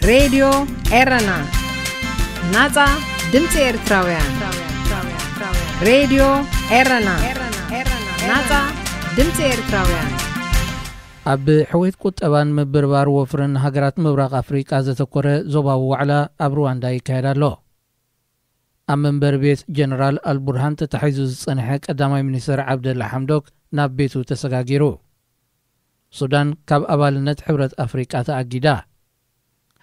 ሬድዮ ኤረና፣ ናጻ ድምጺ ኤርትራውያን። ሬድዮ ኤረና፣ ናጻ ድምጺ ኤርትራውያን። ኣብ ሕውየት ቁጠባን ምብርባር ወፍርን ሃገራት ምብራቕ ኣፍሪቃ ዘተኮረ ዞባዊ ዋዕላ ኣብ ሩዋንዳ ይካየድ ኣሎ። ኣብ መንበሪ ቤት ጀነራል ኣልቡርሃን ተታሒዙ ዝጸንሐ ቀዳማይ ሚኒስተር ዓብደላ ሓምዶክ ናብ ቤቱ ተሰጋጊሩ። ሱዳን ካብ ኣባልነት ሕብረት ኣፍሪቃ ተኣጊዳ።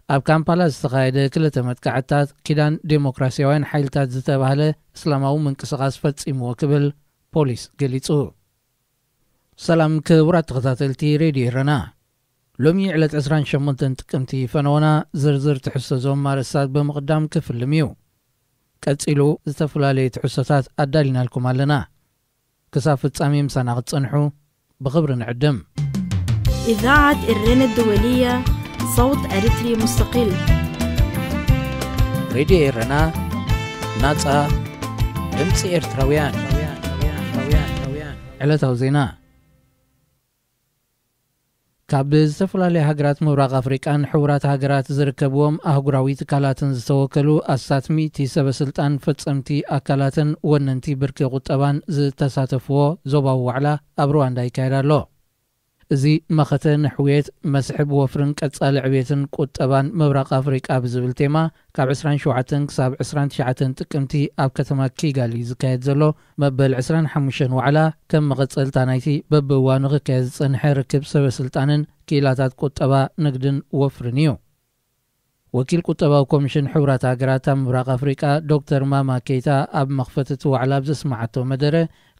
ኣብ ካምፓላ ዝተኻየደ ክልተ መጥቃዕትታት ኪዳን ዴሞክራስያውያን ሓይልታት ዝተባህለ እስላማዊ ምንቅስቓስ ፈጺምዎ ክብል ፖሊስ ገሊጹ። ሰላም ክቡራት ተኸታተልቲ ሬድዮ ኤረና። ሎሚ ዕለት ዕስራን ሸሞንተን ጥቅምቲ ፈነወና ዝርዝር ትሕዝቶ ዞም ኣርእስታት ብምቕዳም ክፍልም እዩ። ቀጺሉ ዝተፈላለዩ ትሕዝቶታት ኣዳሊናልኩም ኣለና። ክሳብ ፍጻሜ ምሳና ክትጸንሑ ብኽብሪ ንዕድም። إذاعة إرينا الدولية، صوت أريتري مستقل. ሬድዮ ኤረና፣ ናጻ ድምጺ ኤርትራውያን። ዕለታዊ ዜና። ካብ ዝተፈላለዩ ሃገራት ምብራቕ ኣፍሪቃን ሕቡራት ሃገራት ዝርከብዎም ኣህጉራዊ ትካላትን ዝተወከሉ ኣስታት ሚእቲ ሰበ ስልጣን፣ ፈጸምቲ ኣካላትን ወነንቲ ብርኪ ቁጠባን ዝተሳተፍዎ ዞባዊ ዋዕላ ኣብ ሩዋንዳ ይካየድ ኣሎ። እዚ መኸተ ንሕውየት፣ መስሕብ ወፍርን ቀጻሊ ዕብየትን ቁጠባን ምብራቕ ኣፍሪቃ ብዝብል ቴማ ካብ ዕስራን ሸውዓተን ክሳብ ዕስራን ትሽዓተን ጥቅምቲ ኣብ ከተማ ኪጋሊ ዝካየድ ዘሎ መበል ዕስራን ሓሙሽተን ዋዕላ ከም መቐጸልታ ናይቲ በብእዋኑ ክካየድ ዝጸንሐ ርክብ ሰበ ስልጣንን ክኢላታት ቁጠባ፣ ንግድን ወፍርን እዩ። ወኪል ቁጠባዊ ኮሚሽን ሕቡራት ሃገራት ኣብ ምብራቕ ኣፍሪቃ ዶክተር ማማ ኬይታ ኣብ መኽፈቲ እቲ ዋዕላ ኣብ ዘስመዓቶ መደረ፣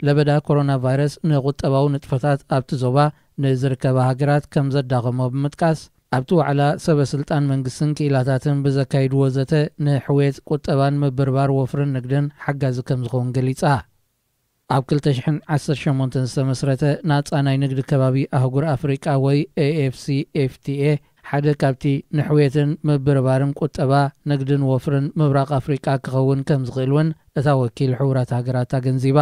ለበዳ ኮሮና ቫይረስ ንቁጠባዊ ንጥፈታት ኣብቲ ዞባ ንዝርከባ ሃገራት ከም ዘዳኸሞ ብምጥቃስ፣ ኣብቲ ዋዕላ ሰበ ስልጣን መንግስትን ክኢላታትን ብዘካይድዎ ዘተ ንሕውየት ቁጠባን ምብርባር ወፍርን ንግድን ሓጋዚ ከም ዝኸውን ገሊጻ። ኣብ ክልተ ሽሕን ዓሰርተ ሸሞንተን ዝተመስረተ ናጻ ናይ ንግዲ ከባቢ ኣህጉር ኣፍሪቃ ወይ ኤ ኤፍ ሲ ኤፍ ቲ ኤ ሓደ ካብቲ ንሕውየትን ምብርባርን ቁጠባ፣ ንግድን ወፍርን ምብራቕ ኣፍሪቃ ክኸውን ከም ዝኽእል እውን እታ ወኪል ሕቡራት ሃገራት ኣገንዚባ።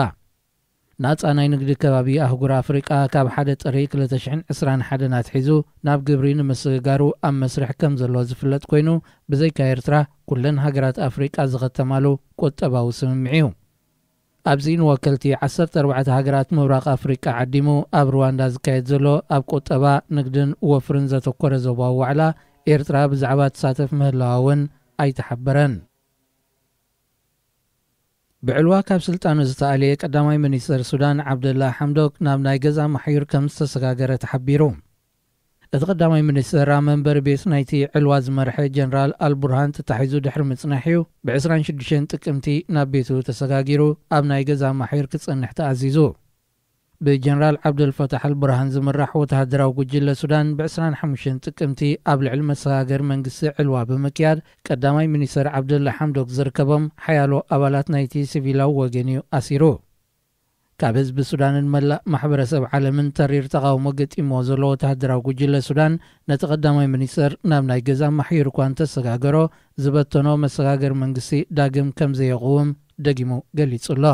ናጻ ናይ ንግዲ ከባቢ ኣህጉር ኣፍሪቃ ካብ ሓደ ጥሪ ክልተ ሽሕን ዕስራን ሓደን ኣትሒዙ ናብ ግብሪ ንምስግጋሩ ኣብ መስርሕ ከም ዘሎ ዝፍለጥ ኮይኑ፣ ብዘይካ ኤርትራ ኩለን ሃገራት ኣፍሪቃ ዝኸተማሉ ቁጠባዊ ስምምዕ እዩ። ኣብዚ ንወከልቲ ዓሰርተ ኣርባዕተ ሃገራት ምብራቕ ኣፍሪቃ ዓዲሙ ኣብ ሩዋንዳ ዝካየድ ዘሎ ኣብ ቁጠባ፣ ንግድን ወፍርን ዘተኮረ ዞባዊ ዋዕላ፣ ኤርትራ ብዛዕባ ትሳተፍ ምህላዋ እውን ኣይተሓበረን። ብዕልዋ ካብ ስልጣኑ ዝተኣልየ ቀዳማይ ሚኒስተር ሱዳን ዓብደላ ሓምዶክ ናብ ናይ ገዛ ማሕዩር ከም ዝተሰጋገረ ተሓቢሩ። እቲ ቀዳማይ ሚኒስተር ኣብ መንበሪ ቤት ናይቲ ዕልዋ ዝመርሐ ጀነራል ኣልቡርሃን ተታሒዙ ድሕሪ ምጽናሕ እዩ ብ ዕስራን ሽዱሽተን ጥቅምቲ ናብ ቤቱ ተሰጋጊሩ ኣብ ናይ ገዛ ማሕዩር ክጸንሕ ተኣዚዙ። ብጀነራል ዓብደልፈታሕ ኣልቡርሃን ዝምራሕ ወተሃደራዊ ጉጅለ ሱዳን ብ ዕስራን ሓሙሽተን ጥቅምቲ ኣብ ልዕሊ መሰጋገሪ መንግስቲ ዕልዋ ብምክያድ፣ ቀዳማይ ሚኒስተር ዓብደላ ሓምዶክ ዝርከቦም ሓያሎ ኣባላት ናይቲ ሲቪላዊ ወገን እዩ ኣሲሩ። ካብ ህዝቢ ሱዳንን መላእ ማሕበረሰብ ዓለምን ተሪር ተቓውሞ ገጢምዎ ዘሎ ወተሃደራዊ ጉጅለ ሱዳን፣ ነቲ ቀዳማይ ሚኒስተር ናብ ናይ ገዛ ማሕዩር እኳ እንተሰጋገሮ፣ ዝበተኖ መሰጋገሪ መንግስቲ ዳግም ከም ዘየቕውም ደጊሙ ገሊጹ ኣሎ።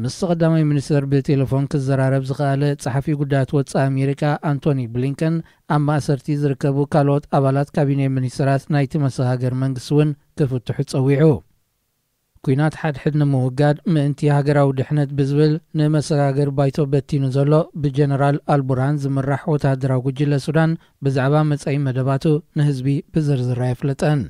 ምስቲ ቀዳማይ ሚኒስተር ብቴሌፎን ክዘራረብ ዝኸኣለ ጸሓፊ ጉዳያት ወጻኢ ኣሜሪካ ኣንቶኒ ብሊንከን፣ ኣብ ማእሰርቲ ዝርከቡ ካልኦት ኣባላት ካቢኔ ሚኒስተራት ናይቲ መሰጋገሪ መንግስቲ እውን ክፍትሑ ጸዊዑ። ኲናት ሓድሕድ ንምውጋድ ምእንቲ ሃገራዊ ድሕነት ብዝብል ንመሰጋገሪ ባይቶ በቲኑ ዘሎ ብጀነራል ኣልቡርሃን ዝምራሕ ወተሃደራዊ ጉጅለ ሱዳን፣ ብዛዕባ መጻኢ መደባቱ ንህዝቢ ብዝርዝር ኣየፍለጠን።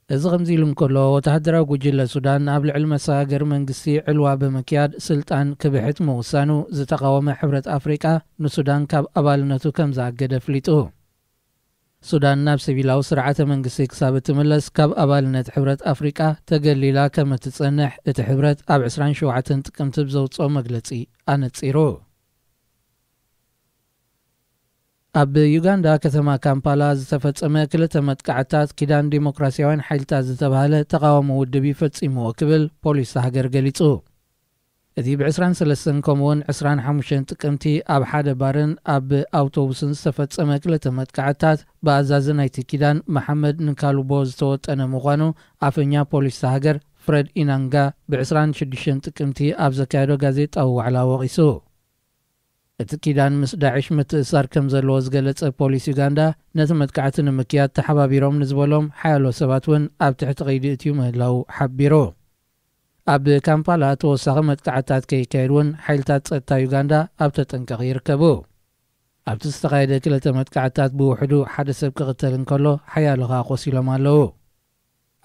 እዚ ከምዚ ኢሉ እንከሎ፣ ወተሃደራዊ ጉጅለ ሱዳን ኣብ ልዕሊ መሰጋገሪ መንግስቲ ዕልዋ ብምክያድ ስልጣን ክብሕት ምውሳኑ ዝተቓወመ ሕብረት ኣፍሪቃ፣ ንሱዳን ካብ ኣባልነቱ ከም ዝኣገደ ኣፍሊጡ። ሱዳን ናብ ሲቪላዊ ስርዓተ መንግስቲ ክሳብ እትምለስ፣ ካብ ኣባልነት ሕብረት ኣፍሪቃ ተገሊላ ከም እትጸንሕ እቲ ሕብረት ኣብ ዕስራን ሸውዓተን ጥቅምቲ ብዘውጽኦ መግለጺ ኣነጺሩ። ኣብ ዩጋንዳ ከተማ ካምፓላ ዝተፈጸመ ክልተ መጥቃዕትታት ኪዳን ዲሞክራስያውያን ሓይልታት ዝተባህለ ተቓዋሚ ውድብ እዩ ፈጺምዎ ክብል ፖሊስ እታ ሃገር ገሊጹ። እቲ ብ ዕስራን ሰለስተን ከምኡውን ዕስራን ሓሙሽተን ጥቅምቲ ኣብ ሓደ ባርን ኣብ ኣውቶቡስን ዝተፈጸመ ክልተ መጥቃዕትታት ብኣዛዚ ናይቲ ኪዳን መሓመድ ንካሉቦ ዝተወጠነ ምዃኑ ኣፈኛ ፖሊስ እታ ሃገር ፍረድ ኢናንጋ ብ ዕስራን ሽዱሽተን ጥቅምቲ ኣብ ዘካየዶ ጋዜጣዊ ዋዕላ ወቒሱ። እቲ ኪዳን ምስ ዳዕሽ ምትእሳር ከም ዘለዎ ዝገለጸ ፖሊስ ዩጋንዳ፣ ነቲ መጥቃዕቲ ንምክያድ ተሓባቢሮም ንዝበሎም ሓያሎ ሰባት እውን ኣብ ትሕቲ ቀይዲ እትዩ ምህላው ሓቢሩ። ኣብ ካምፓላ ተወሳኺ መጥቃዕትታት ከይካየድ እውን ሓይልታት ጸጥታ ዩጋንዳ ኣብ ተጠንቀቕ ይርከቡ። ኣብቲ ዝተኻየደ ክልተ መጥቃዕትታት ብውሕዱ ሓደ ሰብ ክቕተል እንከሎ ሓያሎ ኸኣ ቆሲሎም ኣለዉ።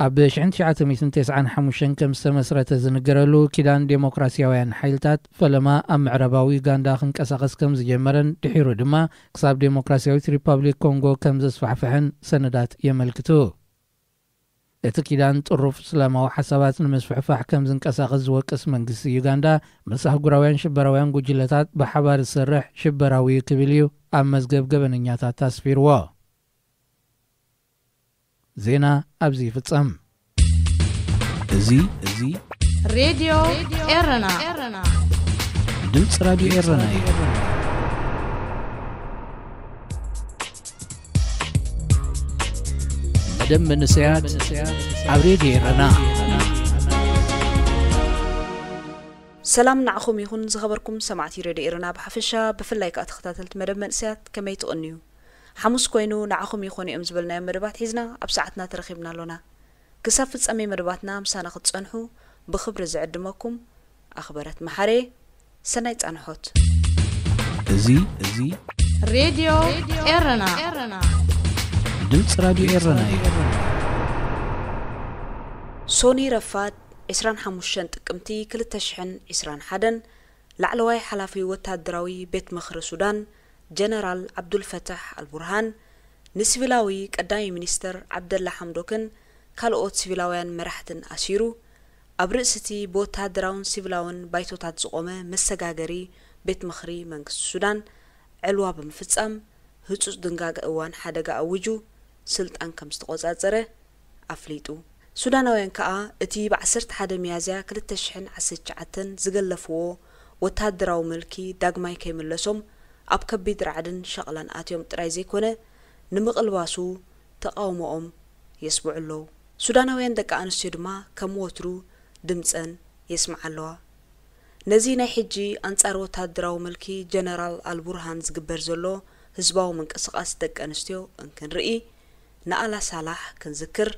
ኣብ ሽሕን ትሽዓተ ሚእትን ተስዓን ሓሙሽተን ከም ዝተመስረተ ዝንገረሉ ኪዳን ዴሞክራሲያውያን ሓይልታት፣ ፈለማ ኣብ ምዕራባዊ ዩጋንዳ ክንቀሳቐስ ከም ዝጀመረን ድሒሩ ድማ ክሳብ ዴሞክራሲያዊት ሪፓብሊክ ኮንጎ ከም ዘስፋሕፍሐን ሰነዳት የመልክቱ። እቲ ኪዳን ጥሩፍ እስላማዊ ሓሳባት ንምስፍሕፋሕ ከም ዝንቀሳቐስ ዝወቅስ መንግስቲ ዩጋንዳ፣ ምስ ኣህጉራውያን ሽበራውያን ጉጅለታት ብሓባር ዝሰርሕ ሽበራዊ እዩ ክብል እዩ ኣብ መዝገብ ገበነኛታት ኣስፊርዎ። ዜና ኣብዚ ይፍጸም። እዚ እዚ ሬድዮ ኤረና። ድምፂ ራዲዮ ኤረና እዩ። መደብ መንእሰያት ኣብ ሬድዮ ኤረና። ሰላም ንዓኹም ይኹን ዝኸበርኩም ሰማዕቲ ሬድዮ ኤረና ብሓፈሻ፣ ብፍላይ ከኣ ተኸታተልቲ መደብ መንእሰያት ከመይ ትቕንዩ? ሓሙስ ኮይኑ ንዓኹም ይኾኑ እዮም ዝበልናዮም መደባት ሒዝና ኣብ ሰዓትና ተረኺብና ኣሎና። ክሳብ ፍጻሜ መደባትና ምሳና ክትጸንሑ ብኽብሪ ዝዕድመኩም ኣኽበረት መሓሬ። ሰናይ ጻንሖት። እዚ እዚ ሬድዮ ኤረና። ድምፂ ራዲዮ ኤረና እዩ። ሶኒ ረፋድ ዕስራን ሓሙሽተን ጥቅምቲ ክልተ ሽሕን ዕስራን ሓደን ላዕለዋይ ሓላፊ ወታደራዊ ቤት ምኽሪ ሱዳን ጀነራል ዓብዱልፈታሕ ኣልቡርሃን ንሲቪላዊ ቀዳማይ ሚኒስተር ዓብደላ ሓምዶክን ካልኦት ሲቪላውያን መራሕትን ኣሲሩ፣ ኣብ ርእሲ እቲ ብወተሃደራውን ሲቪላውን ባይቶታት ዝቖመ መሰጋገሪ ቤት ምኽሪ መንግስቲ ሱዳን ዕልዋ ብምፍጻም፣ ህጹጽ ድንጋገ እዋን ሓደጋ ኣዊጁ ስልጣን ከም ዝተቖጻጸረ ኣፍሊጡ። ሱዳናውያን ከኣ እቲ ብ ዓሰርተ ሓደ ሚያዝያ ክልተ ሽሕን ዓሰርተ ትሽዓተን ዝገለፍዎ ወተሃደራዊ ምልኪ ዳግማይ ከይምለሶም ኣብ ከቢድ ራዕድን ሸቕላን ኣትዮም ጥራይ ዘይኮነ፣ ንምቕልባሱ ተቓውሞኦም የስምዑ ኣለዉ። ሱዳናውያን ደቂ ኣንስትዮ ድማ ከም ወትሩ ድምጸን የስምዓ ኣለዋ። ነዚ ናይ ሕጂ ኣንጻር ወተሃደራዊ ምልኪ ጀነራል ኣልቡርሃን ዝግበር ዘሎ ህዝባዊ ምንቅስቓስ ደቂ ኣንስትዮ እንክንርኢ፣ ንኣላ ሳላሕ ክንዝክር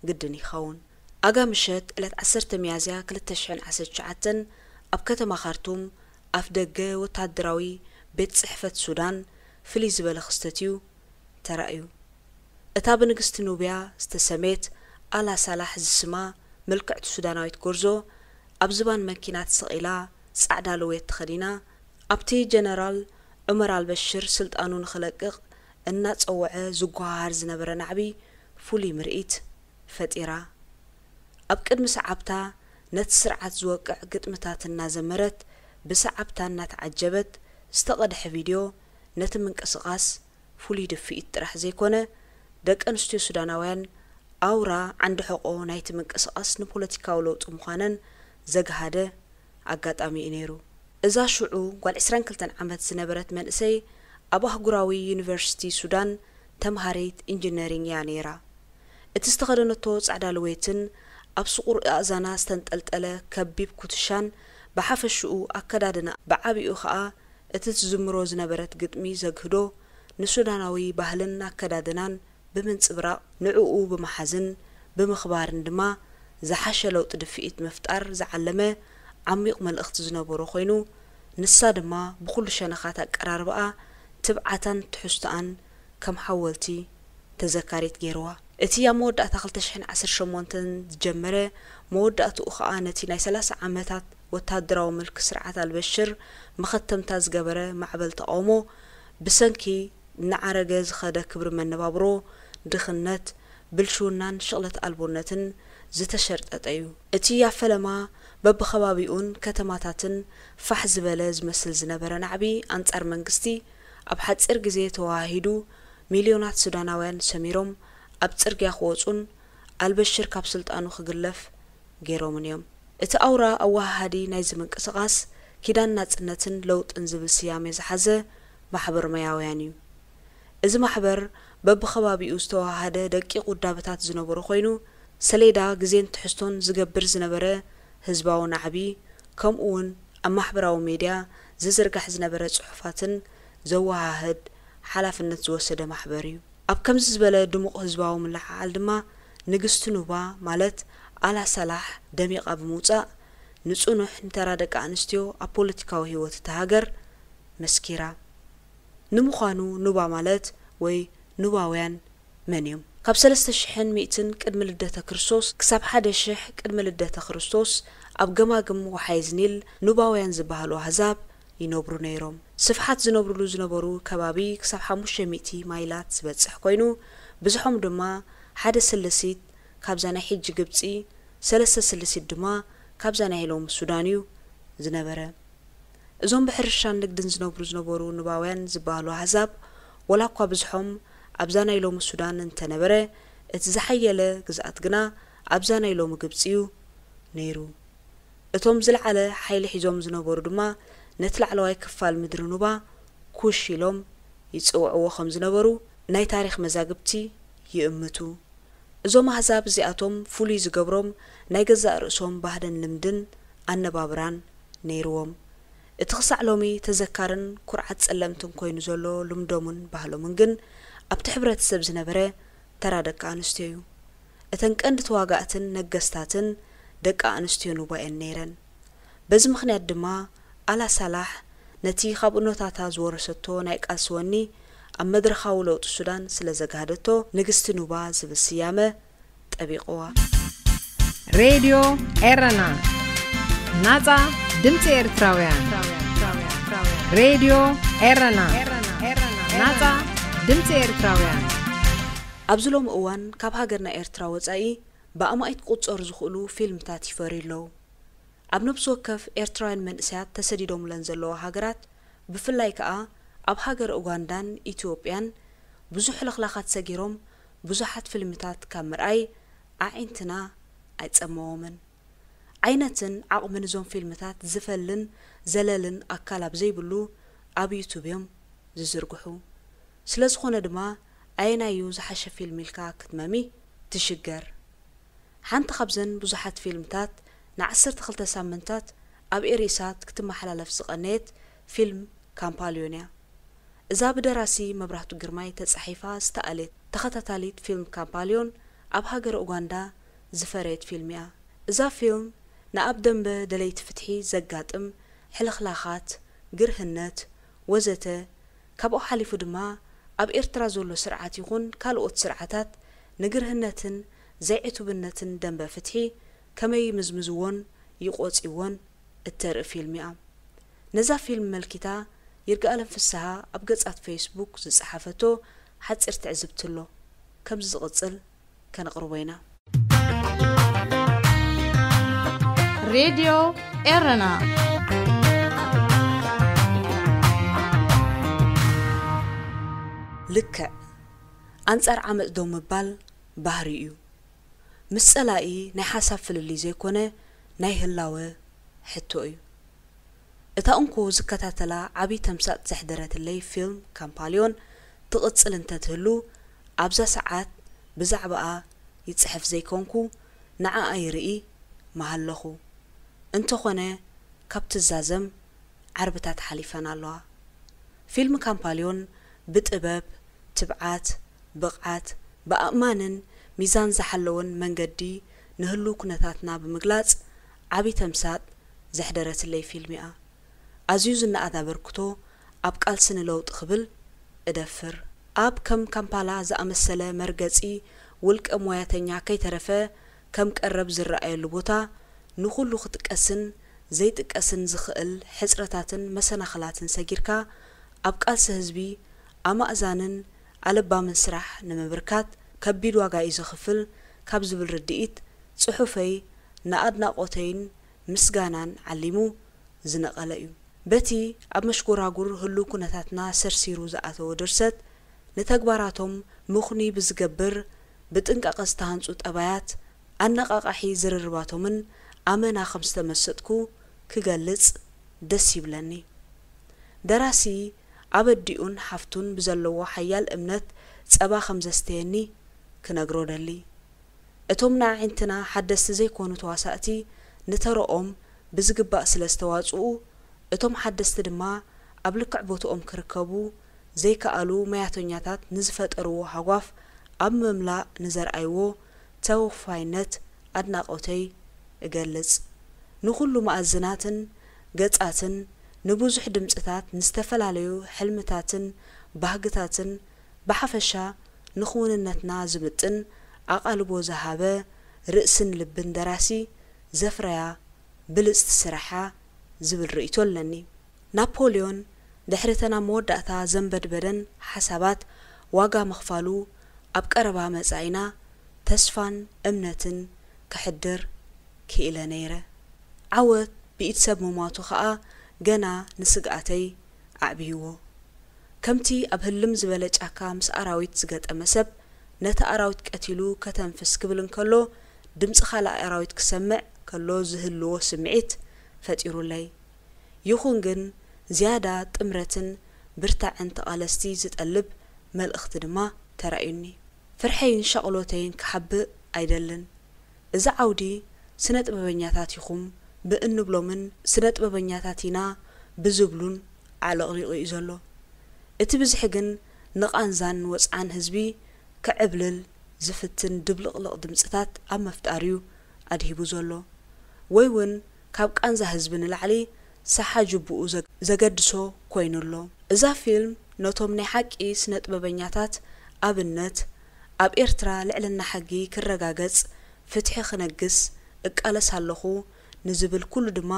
ግድን ይኸውን። ኣጋ ምሸት ዕለት ዓሰርተ ሚያዝያ ክልተ ሽሕን ዓሰርተ ትሽዓተን ኣብ ከተማ ካርቱም ኣፍ ደገ ወተሃደራዊ ቤት ጽሕፈት ሱዳን ፍልይ ዝበለ ክስተት እዩ ተራእዩ። እታ ብንግስቲ ኑብያ ዝተሰሜት ኣላ ሳላሕ ዝስማ ምልክዕቲ ሱዳናዊት ጎርዞ ኣብ ዝባን መኪና ተሰቒላ ጻዕዳ ልዌት ተኸዲና ኣብቲ ጀነራል ዑመር ኣልበሽር ስልጣኑ ንኽለቅቕ እናጸወዐ ዝጓሃሃር ዝነበረ ናዕቢ ፍሉይ ምርኢት ፈጢራ። ኣብ ቅድሚ ሰዓብታ ነቲ ስርዓት ዝወቅዕ ግጥምታት እናዘመረት ብሰዓብታ እናተዓጀበት ዝተቐድሐ ቪድዮ ነቲ ምንቅስቓስ ፍሉይ ድፍኢት ጥራሕ ዘይኮነ ደቂ ኣንስትዮ ሱዳናውያን ኣውራ ዓንዲ ሕቖ ናይቲ ምንቅስቓስ ንፖለቲካዊ ለውጢ ምዃነን ዘግሃደ ኣጋጣሚ እዩ ነይሩ። እዛ ሽዑ ጓል ዕስራን ክልተን ዓመት ዝነበረት መንእሰይ ኣብ ኣህጉራዊ ዩኒቨርሲቲ ሱዳን ተምሃሪት ኢንጂነሪንግ እያ ነይራ። እቲ ዝተኸደነቶ ጻዕዳ ልዌትን ኣብ ስቑር ኣእዛና ዝተንጠልጠለ ከቢብ ኩትሻን ብሓፈሽኡ ኣከዳድና ብዓቢኡ ኸኣ እቲ ትዝምሮ ዝነበረት ግጥሚ ዘግህዶ ንሱዳናዊ ባህልን ኣከዳድናን ብምንጽብራቕ ንዕኡ ብምሓዝን ብምኽባርን ድማ ዝሓሸ ለውጢ ድፍኢት ምፍጣር ዝዓለመ ዓሚቕ መልእኽቲ ዝነበሮ ኮይኑ፣ ንሳ ድማ ብኹሉ ሸነኻት ኣቀራርባኣ ትብዓታን ትሕዝቶኣን ከም ሓወልቲ ተዘካሪት ገይርዋ። እቲ ኣብ መወዳእታ ክልተ ሽሕን ዓሰርተ ሸሞንተን ዝጀመረ፣ መወዳእትኡ ኸኣ ነቲ ናይ ሰላሳ ዓመታት ወተሃደራዊ ምልኪ ስርዓት ኣልበሽር መኸተምታ ዝገበረ ማዕበል ተቓውሞ፣ ብሰንኪ እናዓረገ ዝኸደ ክብሪ መነባብሮ፣ ድኽነት፣ ብልሽውናን ሽቕለት ኣልቦነትን ዝተሸርጠጠ እዩ። እቲ ኣብ ፈለማ በብኸባቢኡን ከተማታትን ፋሕ ዝበለ ዝመስል ዝነበረ ናዕቢ ኣንጻር መንግስቲ፣ ኣብ ሓጺር ግዜ ተወሃሂዱ፣ ሚልዮናት ሱዳናውያን ሰሚሮም ኣብ ጽርግያ ክወጹን ኣልበሽር ካብ ስልጣኑ ክግለፍ ገይሮምን እዮም። እቲ ኣውራ ኣወሃሃዲ ናይዚ ምንቅስቓስ፣ ኪዳን ናጽነትን ለውጥን ዝብል ስያሜ ዝሓዘ ማሕበር ሞያውያን እዩ። እዚ ማሕበር በብኸባቢኡ ዝተወሃሃደ ደቂቕ ውዳበታት ዝነበሮ ኮይኑ፣ ሰሌዳ ግዜን ትሕዝቶን ዝገብር ዝነበረ ህዝባዊ ናዕቢ፣ ከምኡውን ኣብ ማሕበራዊ ሜድያ ዝዝርጋሕ ዝነበረ ጽሑፋትን ዘወሃህድ ሓላፍነት ዝወሰደ ማሕበር እዩ። ኣብ ከምዚ ዝበለ ድሙቕ ህዝባዊ ምልዕዓል ድማ ንግስቲ ኑባ ማለት ኣላ ሳላሕ ደሚቓ ብምውጻእ ንጽኑሕ ንተራ ደቂ ኣንስትዮ ኣብ ፖለቲካዊ ህይወት እታ ሃገር መስኪራ። ንምዃኑ ኑባ ማለት ወይ ኑባውያን መን እዮም? ካብ ሰለስተ ሽሕን ሚእትን ቅድሚ ልደተ ክርስቶስ ክሳብ ሓደ ሽሕ ቅድሚ ልደተ ክርስቶስ ኣብ ገማግም ወሓይዝ ኒል ኑባውያን ዝበሃሉ ኣህዛብ ይነብሩ ነይሮም። ስፍሓት ዝነብሩሉ ዝነበሩ ከባቢ ክሳብ ሓሙሽተ ሚእቲ ማይላት ዝበጽሕ ኮይኑ፣ ብዝሖም ድማ ሓደ ስልሲት ካብዛ ናይ ሕጂ ግብጺ፣ ሰለስተ ስልሲት ድማ ካብዛ ናይ ሎሚ ሱዳን እዩ ዝነበረ። እዞም ብሕርሻን ንግድን ዝነብሩ ዝነበሩ ኑባውያን ዝበሃሉ ኣህዛብ፣ ወላ እኳ ብዝሖም ኣብዛ ናይ ሎሚ ሱዳን እንተነበረ፣ እቲ ዝሓየለ ግዝኣት ግና ኣብዛ ናይ ሎሚ ግብጺ እዩ ነይሩ። እቶም ዝለዓለ ሓይሊ ሒዞም ዝነበሩ ድማ ነቲ ላዕለዋይ ክፋል ምድሪ ኑባ ኩሽ ኢሎም ይጽውዕዎ ከም ዝነበሩ ናይ ታሪኽ መዛግብቲ ይእምቱ። እዞም ኣህዛብ እዚኣቶም ፍሉይ ዝገብሮም ናይ ገዛእ ርእሶም ባህልን ልምድን ኣነባብራን ነይርዎም። እቲ ክሳዕ ሎሚ ተዘካርን ኩርዓት ጸለምትን ኮይኑ ዘሎ ልምዶምን ባህሎምን ግን ኣብቲ ሕብረተሰብ ዝነበረ ተራ ደቂ ኣንስትዮ እዩ። እተን ቀንዲ ተዋጋእትን ነገስታትን ደቂ ኣንስትዮ ኑባ እየን ነይረን። በዚ ምኽንያት ድማ ኣላ ሳላሕ ነቲ ካብ እኖታታ ዝወረሰቶ ናይ ቃልሲ ወኒ ኣብ መድረኻዊ ለውጢ ሱዳን ስለ ዘጋህደቶ ንግስቲ ኑባ ዝብል ስያመ ጠቢቕዋ። ሬድዮ ኤረና፣ ናጻ ድምጺ ኤርትራውያን። ሬድዮ ኤረና፣ ናጻ ድምጺ ኤርትራውያን። ኣብዚ ሎሚ እዋን ካብ ሃገርና ኤርትራ ወጻኢ ብኣማኢት ክቑጸሩ ዝኽእሉ ፊልምታት ይፈርዩ ኣለዉ። ኣብ ነብሲ ወከፍ ኤርትራውያን መንእሰያት ተሰዲዶምለን ዘለዋ ሃገራት፣ ብፍላይ ከኣ ኣብ ሃገረ ኡጋንዳን ኢትዮጵያን ብዙሕ ለኽላኻት ሰጊሮም ብዙሓት ፊልምታት ካብ ምርኣይ ኣዒንትና ኣይጸመዎምን። ዓይነትን ዓቕምን እዞም ፊልምታት ዝፈልን ዘለልን ኣካል ኣብ ዘይብሉ ኣብ ዩቱብ እዮም ዝዝርግሑ። ስለ ዝኾነ ድማ ኣየናይ እዩ ዝሓሸ ፊልም ኢልካ ክትመሚ ትሽገር። ሓንቲ ካብዘን ብዙሓት ፊልምታት ንዓሰርተ ክልተ ሳምንታት ኣብ ኤሪሳት ክትመሓላለፍ ዝቐነየት ፊልም ካምፓልዮን እያ። እዛ ብደራሲ መብራህቱ ግርማይ ተጻሒፋ ዝተኣልየት ተኸታታሊት ፊልም ካምፓልዮን ኣብ ሃገረ ኡጋንዳ ዝፈረየት ፊልም እያ። እዛ ፊልም ንኣብ ደንበ ደለይቲ ፍትሒ ዘጋጥም ሕልኽላኻት፣ ግርህነት፣ ወዘተ ካብኡ ሓሊፉ ድማ ኣብ ኤርትራ ዘሎ ስርዓት ይኹን ካልኦት ስርዓታት ንግርህነትን ዘይዕቱብነትን ደንበ ፍትሒ ከመይ ይምዝምዝዎን ይቖጽይዎን እተርኢ ፊልም እያ። ነዛ ፊልም መልኪታ ይርጋኣለም ፍስሃ ኣብ ገጻት ፌስቡክ ዝጸሓፈቶ ሓጺር ትዕዝብቲ ኣሎ። ከምዚ ዝቕጽል ከነቕርቦ ኢና። ሬድዮ ኤረና። ልክዕ ኣንጻር ዓመጽ ደው ምባል ባህሪ እዩ። ምስ ጸላኢ ናይ ሓሳብ ፍልልይ ዘይኮነ ናይ ህላወ ሕቶ እዩ። እታ እንኮ ዝከታተላ ዓቢ ተምሳጥ ዘሕደረትለይ ፊልም ካምፓልዮን ትቕጽል እንተትህሉ ኣብዛ ሰዓት ብዛዕባኣ ይጽሕፍ ዘይኮንኩ ንዓኣ ይርኢ ምሃለኹ። እንተኾነ ካብ ትዛዘም ዓርብታት ሓሊፈን ኣለዋ። ፊልም ካምፓልዮን ብጥበብ፣ ትብዓት፣ ብቕዓት፣ ብኣእማንን ሚዛን ዝሓለወን መንገዲ ንህሉው ኩነታትና ብምግላጽ ዓቢ ተምሳጥ ዘሕደረትለይ ፊልም እያ። ኣዝዩ ዝነኣድ ኣበርክቶ ኣብ ቃልሲ ንለውጢ ክብል እደፍር። ኣብ ከም ካምፓላ ዝኣመሰለ መርገጺ ውልቀ ሞያተኛ ከይተረፈ ከም ቀረብ ዝረኣየሉ ቦታ ንኹሉ ክጥቀስን ዘይጥቀስን ዝኽእል ሕጽረታትን መሰናኽላትን ሰጊርካ ኣብ ቃልሲ ህዝቢ ኣማእዛንን ኣለባምን ስራሕ ንምብርካት ከቢድ ዋጋ እዩ ዘኽፍል ካብ ዝብል ርድኢት ጽሑፈይ ንኣድናቖተይን ምስጋናን ዓሊሙ ዝነቐለ እዩ። በቲ ኣብ መሽጎራጉር ህሉው ኩነታትና ሰርሲሩ ዝኣተወ ድርሰት፣ ንተግባራቶም ምኽኑይ ብዝገብር ብጥንቃቐ ዝተሃንጹ ጠባያት፣ ኣነቓቓሒ ዝርርባቶምን ኣመና ከም ዝተመሰጥኩ ክገልጽ ደስ ይብለኒ። ደራሲ ኣብ ኣዲኡን ሓፍቱን ብዘለዎ ሓያል እምነት ጸባ ከም ዘስተየኒ ክነግሮ ደሊ። እቶም ንኣዒንትና ሓደስቲ ዘይኮኑ ተዋሳእቲ ንተረኦም ብዝግባእ ስለ ዝተዋጽኡ፣ እቶም ሓደስቲ ድማ ኣብ ልክዕ ቦትኦም ክርከቡ ዘይከኣሉ መያተኛታት ንዝፈጠርዎ ሃጓፍ ኣብ ምምላእ ንዘርኣይዎ ተወፋይነት ኣድናቖተይ እገልጽ። ንኹሉ መኣዝናትን ገጻትን፣ ንብዙሕ ድምጽታት፣ ንዝተፈላለዩ ሕልምታትን ባህግታትን፣ ብሓፈሻ ንኽውንነትና ዝምጥን ኣቓልቦ ዝሃበ ርእስን ልብን ደራሲ ዘፍረያ ብልጽቲ ስራሓ ዝብል ርእይቶ ኣለኒ። ናፖልዮን ድሕሪ ተን ኣብ መወዳእታ ዘንበድበደን ሓሳባት ዋጋ ምኽፋሉ ኣብ ቀረባ መጻኢና ተስፋን እምነትን ከሕድር ክኢለ ነይረ። ዓወት ብኢድ ሰብ ምሟቱ ኸኣ ገና ንስግኣተይ ኣዕብይዎ። ከምቲ ኣብ ህልም ዝበለ ጫካ ምስ ኣራዊት ዝገጠመ ሰብ፣ ነቲ ኣራዊት ቀቲሉ ከተንፍስ ክብል እንከሎ፣ ድምጺ ካልእ ኣራዊት ክሰምዕ ከሎ ዝህልዎ ስምዒት ፈጢሩለይ። ይኹን ግን፣ ዝያዳ ጥምረትን ብርታዕን ተቓለስቲ ዝጠልብ መልእኽቲ ድማ ተራእዩኒ። ፍርሐይን ሻቕሎተይን ክሓብእ ኣይደልን። እዚ ዓውዲ ስነ ጥበበኛታት ኢኹም ብእንብሎምን ስነ ጥበበኛታት ኢና ብዝብሉን ዓለቕሊቑ እዩ ዘሎ። እቲ ብዝሒ ግን ንቓንዛን ወጽዓን ህዝቢ ክዕብልል ዝፍትን ድብልቕልቕ ድምጽታት ኣብ ምፍጣር እዩ ኣድሂቡ ዘሎ። ወይ እውን ካብ ቃንዛ ህዝቢ ንላዕሊ ሰሓ ጅቡኡ ዘግ-፣ ዘገድሶ ኮይኑ ኣሎ። እዛ ፊልም ነቶም ናይ ሓቂ ስነ ጥበበኛታት ኣብነት፣ ኣብ ኤርትራ ልዕልና ሕጊ ክረጋገጽ፣ ፍትሒ ክነግስ እቃለስ ኣለኹ ንዝብል ኩሉ ድማ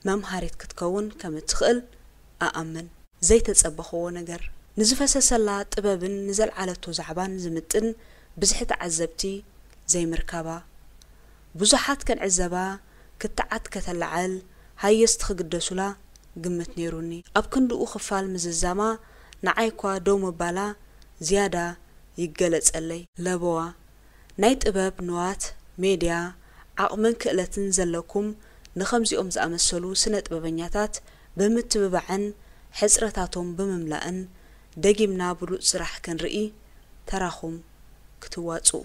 መምሃሪት ክትከውን ከም እትኽእል እኣምን። ዘይተጸበኽዎ ነገር፣ ንዝፈሰሰላ ጥበብን ንዘልዓለቶ ዛዕባን ዝምጥን ብዝሒ ተዓዘብቲ ዘይምርካባ። ብዙሓት ክንዕዘባ ክትዓት ከተለዓል ሃየስቲ ክግደሱላ ግምት ነይሩኒ። ኣብ ክንድኡ ክፋል ምዝዛማ ንዓይ እኳ ደው ምባላ ዝያዳ ይገለጸለይ። ለበዋ፣ ናይ ጥበብ ንዋት፣ ሜድያ፣ ዓቕምን ክእለትን ዘለኩም ንኸምዚኦም ዝኣመሰሉ ስነ ጥበበኛታት ብምትብባዕን ሕጽረታቶም ብምምላእን ደጊምና ብሉጽ ስራሕ ክንርኢ ተራኹም ክትዋጽኡ።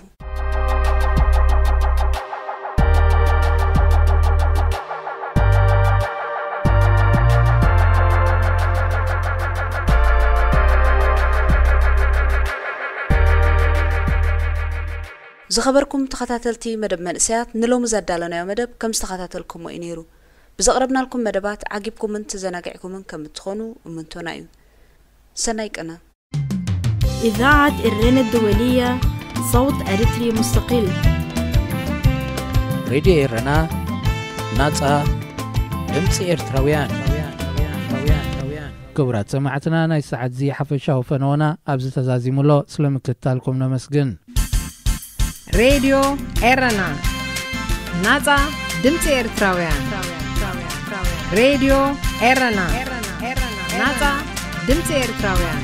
ዝኸበርኩም ተኸታተልቲ መደብ መንእሰያት፣ ንሎሚ ዘዳለናዮ መደብ ከም ዝተኸታተልኩሞ እዩ ነይሩ። ብዘቕረብናልኩም መደባት ዓጊብኩምን ተዘናጊዕኩምን ከም እትኾኑ እምንቶና እዩ። ሰናይ ቅነ። إذاعة إرنا الدولية، صوت أريتري مستقل. ሬድዮ ኤረና፣ ናጻ ድምጺ ኤርትራውያን። ክቡራት ሰማዕትና፣ ናይ ሰዓት እዚ ሓፈሻዊ ፈነወና ኣብዚ ተዛዚሙ ኣሎ። ስለ ምክትታልኩም ነመስግን። ሬድዮ ኤረና፣ ናጻ ድምጺ ኤርትራውያን። ሬድዮ ኤረና፣ ናጻ ድምጺ ኤርትራውያን።